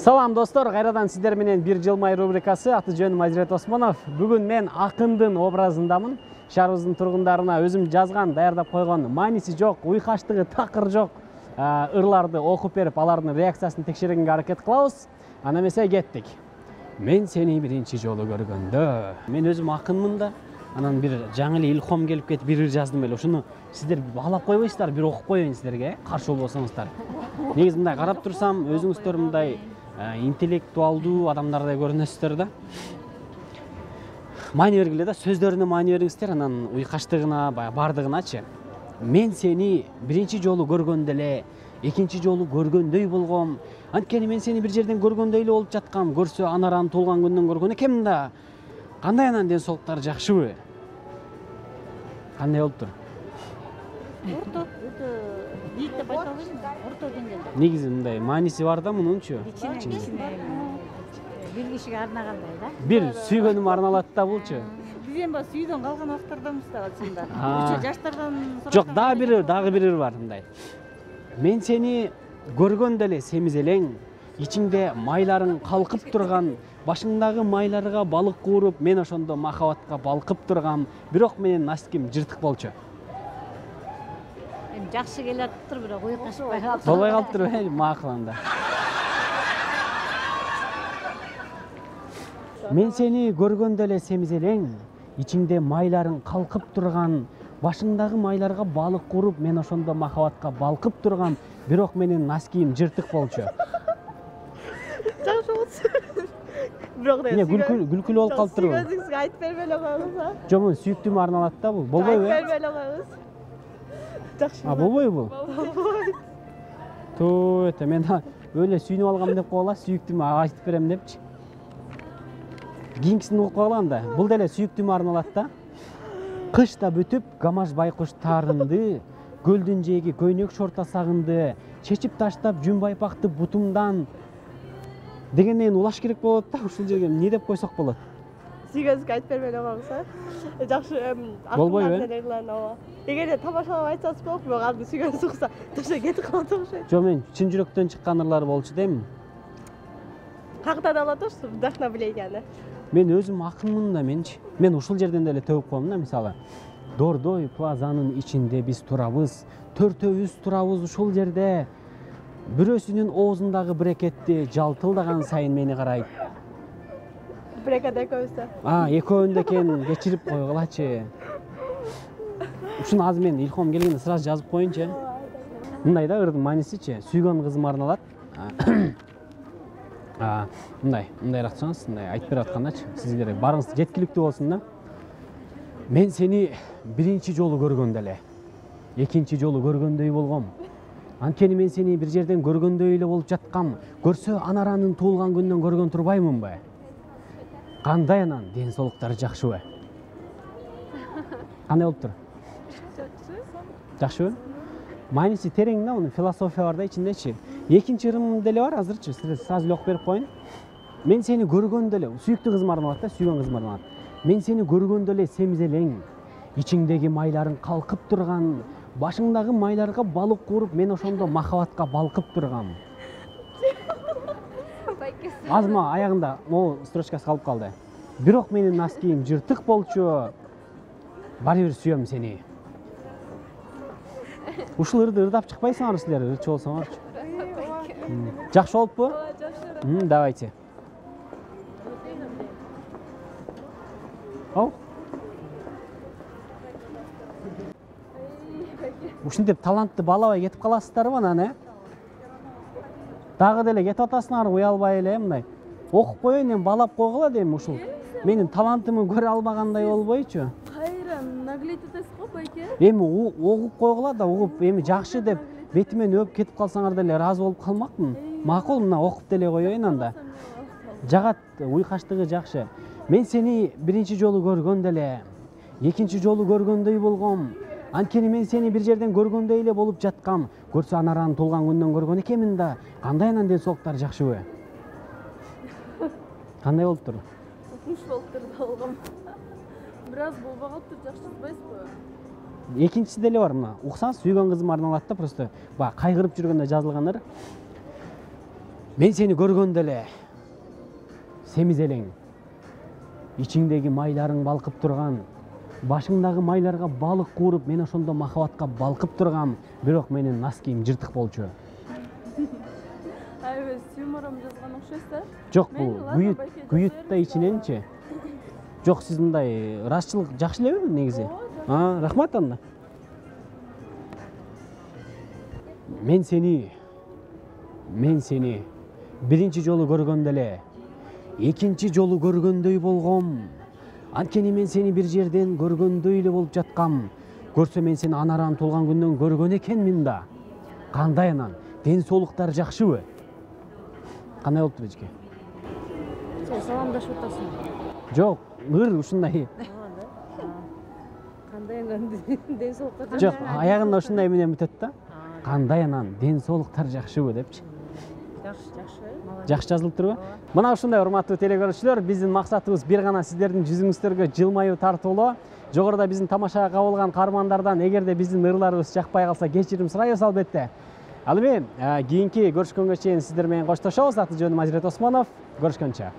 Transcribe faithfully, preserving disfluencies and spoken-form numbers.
Салам достор, кайрадан сиздер менен бир жылмай рубрикасы. Аты жөнүм Азирет Осмонов. Бүгүн мен акындын образындамын. Шаарыбыздын тургундарына өзүм жазган, даярдап койгон, мааниси жок, уйкаштыгы такыр жок ырларды окуп берип, алардын реакциясын текшергенге аракет кылабыз. Ана эмесе кеттик. Мен сени биринчи жолу көргөндө. Мен өзүм акынмын да. Анан бир жаңы эле илхом келип кетип бир ыр жаздым эле. Ошону сиздер алап койбойсуздар, бир окуп коеюн сиздерге, каршы болбосоңуздар. Негизи мындай карап турсам, өзүңүздөр мындай интеллектуалдуу адамдардай көрүнөсүздөр да. Маани бергиле да, сөздөрүнө маани бериңиздер, анан уйкаштыгына, баягы бардыгыначы. Мен сени биринчи жолу көргөндө эле, экинчи жолу көргөндөй болгом. Анткени мен сени бир жерден көргөндөй эле болуп жаткам. Көрсө анараны туулган күндөн көргөн экенмин да. Кандай анан ден соолуктары жакшыбы? Кандай болуптур? Орто, өтө бийик деп айта албайм, орто деңгээлде. Негизи мындай мааниси бар да мунунчу. Бир кишиге арнагандай да. Бир сүйгөнүм арналат да булчу. Биз эми баягы сүйдөн калган убактардамыз да чында. Ошо жаштардан сурап. Жок, дагы бир дагы бир бар мындай. Мен сени көргөндө эле семизелең, ичиңде майларың калкып турган, башыңдагы майларга балык кууруп, мен ошондо махабатка балкып тургам, бирок менин носким жыртык болчу. Эми жакшы келатыптыр, бирок уйкашпай калды. Болбой калыптырбы? Макул анда. Мен сени көргөндө эле семизелең, ичиңде майларың калкып турган, башыңдагы майларга балык кууруп, мен ошондо махабатка балкып тургам, бирок менин носким жыртык болчу. Жакшы болчу. Бирок да күлкүлүү болуп калыптырбы? Сүйгөнүңүзгө айтып бербей эле коюңуз. Жок, мун сүйүктүүмө арналат да бул. Болбойбу? Айтып бербей эле коюңуз. Жакшы. А, болбойбу бул? Болбойт. Туу, эте мен өлө сүйүнүп алгам деп койгула, сүйүктүүмө айтып берем депчи. Кийинкисин угуп койгула анда. Бул деле сүйүктүүмө арналат да. Кыш да бүтүп, гамаш байкуш таарынды, көлдүн жээги көйнөк шорта сагынды, чечип таштап жүн байпакты бутумдан дегенден улаш керек болот да. Ушул жерге эмне деп койсок болот? Сүйгөнүңүзгө айтып бербей эле коюңуз. Жакшы, болбойбу? Эгерде тамашалап айтсаңыз болот, бирок арды сүйгөнүңүз укса, таштай кетип калат окшойт. Жок, мен чын жүрөктөн чыккан ырлар болчу дейм. Кактан алат ошо вдохновление. Мен өзүм акынмын да менчи. Мен ушул жерден деле төгүп коем да, мисалы. Дордой плазанын ичинде биз турабыз, төртөөбүз турабыз ушул жерде. Бирөөсүнүн оозундагы брекетти жалтылдаган сайын мени карайт. Брекет экөөбүздө. А, экөөндө экен, кечирип койгулачы. Ушуну азыр мен илхом келгенде сразу жазып коеюнчу. Мындай да ырдын маанисичи, сүйгөн кызыма арналат. А, мындай, мындайраак чыңыз, мындай айтып берип аткандачы, сиздер барыңыз жеткиликтүү болсун да. Мен сени биринчи жолу көргөндө эле, экинчи жолу көргөндөй болгом. Анткени мен сени бир жерден көргөндөй эле болуп жаткам. Көрсө анаранын туулган күндөн көргөн турбаймынбы? Кандай анан ден соолуктары жакшыбы? Кандай болуптур? Жакшы. Жакшыбы? Мааниси терең да, мунун философия бар да ичиндечи. Экинчи ырым деле бар азырчы, сиздер сразу эле окуп берип коеюн. Мен сени көргөндө эле, сүйүктүү кызыма арналат да, сүйгөн кызыма арналат. Мен сени көргөндө эле семизелең, ичиңдеги майларың калкып турган, башыңдагы майларга балык кууруп, мен ошондо махабатка балкып тургам. Азма аягында могу строчкасы калып калды. Бирок менин носким жыртык болчу. Баары бир сүйөм сени. Ушул ырды ырдап чыкпайсыңарбы силер, ырчы болсоңорчу. Жакшы болуппу? Жакшы. Давайте. Ау. Ушинтип талантты балабай кетип каласыздарбы анан, э? Дагы деле кетип атасыңарбы, уялбай эле мындай. Окуп коеюн, эми балап койгула дейм ушул. Менин талантымды көрө албагандай болбойчу. Кайра наглеть этесиз го байке? Эми угуп койгула да, угуп эми жакшы деп бетимен өп кетип калсаңар деле ыраазы болуп калмакмын. Макул, мына окуп деле коеюн анда. Жагат, уйкаштыгы жакшы. Мен сени биринчи жолу көргөндө эле, экинчи жолу көргөндөй болгом. Анткени мен сени бир жерден көргөндөй эле болуп жаткам. Көрсө анаранын туулган күндөн көргөн экенмин да. Кандай анан ден соолуктары жакшыбы? Кандай болуптур? Куш болуптур да болгом. Бир аз болбой калыптыр, жакшы жазбайсызбы? Экинчиси деле бар мына. Уксаңыз, сүйгөн кызыма арналат да, просто баягы кайгырып жүргөндө жазылган ыр. Мен сени көргөндө эле семиз элең, ичиңдеги майларың балкып турган, башыңдагы майларга балык кууруп, мен ошондо махабатка балкып тургам, бирок менин нос кийим жыртык болчу. Аябай юморум жазган окшойсуз да? Жок, бул күйүт, күйүт да ичиненчи. Жок, сиз мындай ырасчылык жакшы элеби негизи? А, рахмат анда. Мен сени, мен сени биринчи жолу көргөндө эле экинчи жолу көргөндөй болгом. Анткени мен сени бир жерден көргөндөй эле болуп жаткам. Көрсө мен сени анаран туулган күндөн көргөн экенмин да. Кандай анан? Ден соолуктар жакшыбы? Кандай болуптур эжеке? Сен саламдашып атасың. Жок, ыр ушундай. Кандай анан ден соолуктар? Жок, аягында ушундай менен бүтөт да. Кандай анан? Ден соолуктар жакшыбы депчи. Жакшы, жакшы. Жакшы жазылып турбу? Мына ушундай урматтуу телекөрүүчүлөр, биздин максатыбыз бир гана сиздердин жүзүңүздөргө жылмаюу тартуулоо. Жогоруда биздин тамашага кабылган каармандардан эгерде биздин ырларыбыз жакпай калса кечирим сурайбыз албетте. Ал эми кийинки көрүшкөнгө чейин сиздер менен коштошобуз. Аты жөнүм Азирет Осмонов. Көрүшкөнчө.